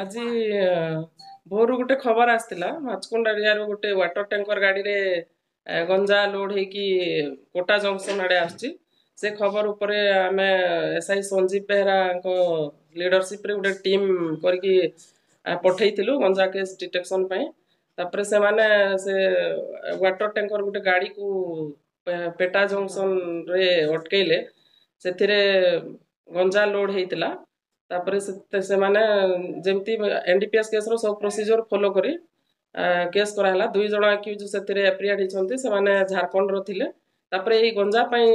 ଆଜି ଭୋରୁ ଗୋଟେ ଖବର ଆସିଥିଲା, ମାଛକୁଣ୍ଡ ଏରିଆରୁ ଗୋଟେ ୱାଟର ଟ୍ୟାଙ୍କର ଗାଡ଼ିରେ ଗଞ୍ଜା ଲୋଡ୍ ହେଇକି କୋଟା ଜଙ୍କସନ୍ ଆଡ଼େ ଆସୁଛି। ସେ ଖବର ଉପରେ ଆମେ ଏସ୍ଆଇ ସଞ୍ଜୀବ ବେହେରାଙ୍କ ଲିଡରସିପ୍ରେ ଗୋଟେ ଟିମ୍ କରିକି ପଠେଇଥିଲୁ ଗଞ୍ଜା କେସ୍ ଡିଟେକ୍ସନ୍ ପାଇଁ। ତାପରେ ସେମାନେ ସେ ୱାଟର ଟ୍ୟାଙ୍କର ଗୋଟେ ଗାଡ଼ିକୁ ପେଟା ଜଙ୍କସନ୍ରେ ଅଟକେଇଲେ। ସେଥିରେ ଗଞ୍ଜା ଲୋଡ୍ ହେଇଥିଲା। ତାପରେ ସେମାନେ ଯେମିତି ଏନ୍ଡିପିଏସ୍ କେସ୍ର ସବୁ ପ୍ରୋସିଜିଓର ଫଲୋ କରି କେସ୍ କରାହେଲା। 2 ଜଣ ଆକ୍ୟୁଜ୍ ସେଥିରେ ଆପ୍ରିହେଣ୍ଡ ହେଇଛନ୍ତି, ସେମାନେ ଝାଡ଼ଖଣ୍ଡର ଥିଲେ। ତାପରେ ଏଇ ଗଞ୍ଜା ପାଇଁ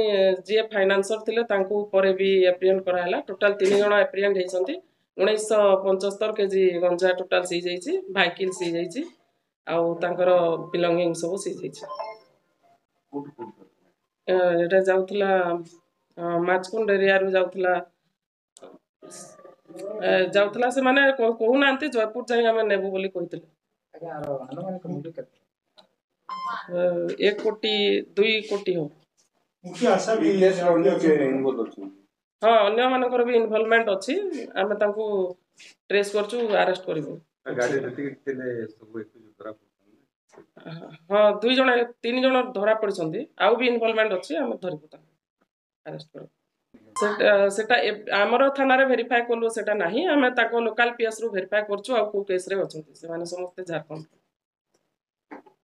ଯିଏ ଫାଇନାନ୍ସର ଥିଲେ, ତାଙ୍କୁ ପରେ ବି ଆପ୍ରିହେଣ୍ଡ କରାହେଲା। ଟୋଟାଲ 3 ଜଣ ଆପ୍ରିହେଣ୍ଡ ହେଇଛନ୍ତି। 1975 କେଜି ଗଞ୍ଜା ଟୋଟାଲ ସିଜ୍ ହେଇଛି, ଭାଇକିଲ୍ ସିଜ୍ ହେଇଛି ଆଉ ତାଙ୍କର ବିଲଙ୍ଗିଙ୍ଗ ସବୁ ସିଜ୍ ହେଇଛି। ଏଇଟା ଯାଉଥିଲା ମାଛକୁଣ୍ଡ ଏରିଆରୁ ଯାଉଥିଲା। ସେମାନେ କହୁନାହାନ୍ତି, ଜୟପୁର ଯାଇ ଆମେ ନେବୁ ବୋଲି କହିଥିଲେ। 1 କୋଟି, 2 କୋଟି ହବ। ହଁ, ଅନ୍ୟମାନଙ୍କର ବି ଇନଭଲଭମେଣ୍ଟ ଅଛି। ଆମେ ତାଙ୍କୁ ଟ୍ରେସ୍ କରୁଛୁ, ଆରେଷ୍ଟ କରିବୁ। ହଁ, 2 ଜଣ, 3 ଜଣ ଧରା ପଡ଼ିଛନ୍ତି। ଆଉ ବି ଇନଭଲଭମେଣ୍ଟ ଅଛି, ଆମେ ଧରିବୁ, ତାଙ୍କୁ ଆରେଷ୍ଟ କରିବୁ। ସେଟା ଆମର ଥାନାରେ ଭେରିଫାଏ କଲୁ, ସେଟା ନାହିଁ। ଆମେ ତାଙ୍କ ଲୋକାଲ ପିଏସ୍ରୁ ଭେରିଫାଏ କରୁଛୁ ଆଉ କେଉଁ କେସ୍ରେ ଅଛନ୍ତି। ସେମାନେ ସମସ୍ତେ ଝାଡ଼ଖଣ୍ଡ।